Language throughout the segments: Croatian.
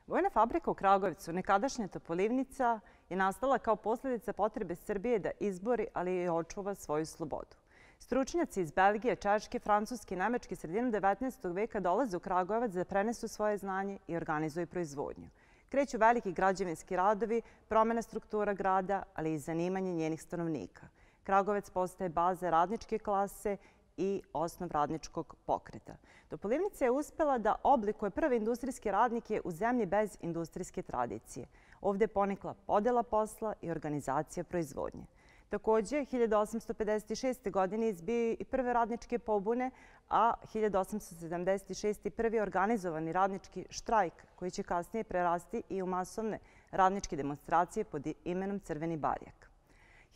Vojna fabrika u Kragujevcu, nekadašnja Topolivnica, je nastala kao posljedica potrebe Srbije da izbori, ali i očuva svoju slobodu. Stručnjaci iz Belgije, Češke, Francuske i Nemačke sredinom 19. veka dolaze u Kragujevac da prenesu svoje znanje i organizuju proizvodnju. Kreću veliki građevinski radovi, promjena struktura grada, ali i zanimanje njenih stanovnika. Kragujevac postaje baza radničke klase i osnov radničkog pokreta. Topolivnica je uspela da oblikuje prve industrijske radnike u zemlji bez industrijske tradicije. Ovdje je ponikla podjela posla i organizacija proizvodnje. Također, 1856. godine izbio i prve radničke pobune, a 1876. prvi organizovani radnički štrajk, koji će kasnije prerasti i u masovne radničke demonstracije pod imenom Crveni barjak.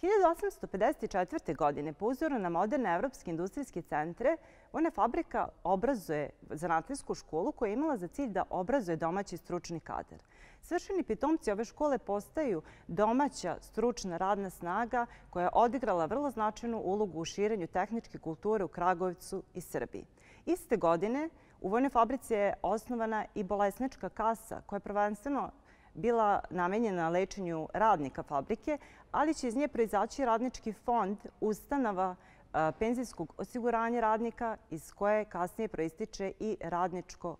1854. godine, po uzoru na moderne evropske industrijske centre, Vojna fabrika obrazuje zanatlijsku školu koja je imala za cilj da obrazuje domaći stručni kadar. Svršeni pitomci ove škole postaju domaća stručna radna snaga koja je odigrala vrlo značajnu ulogu u širenju tehničke kulture u Kragujevcu i Srbiji. Iste godine u Vojnoj fabrici je osnovana i bolesnička kasa koja je prvenstveno bila namenjena lečenju radnika fabrike, ali će iz nje proizaći radnički fond ustanova penzijskog osiguranja radnika iz koje kasnije proističe i radničko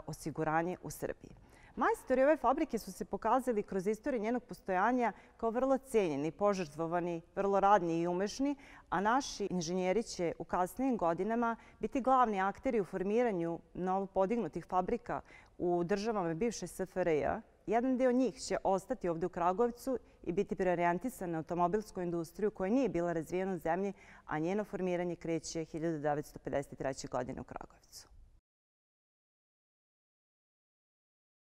osiguranje u Srbiji. Majstori ove fabrike su se pokazali kroz istoriju njenog postojanja kao vrlo cijenjeni, požrtvovani, vrlo radni i umešni, a naši inženjeri će u kasnijim godinama biti glavni akteri u formiranju novopodignutih fabrika u državama bivše SFRJ. Jedan dio njih će ostati ovdje u Kragujevcu i biti preorijentisan na automobilsku industriju koja nije bila razvijena u zemlji, a njeno formiranje kreće 1953. godine u Kragujevcu.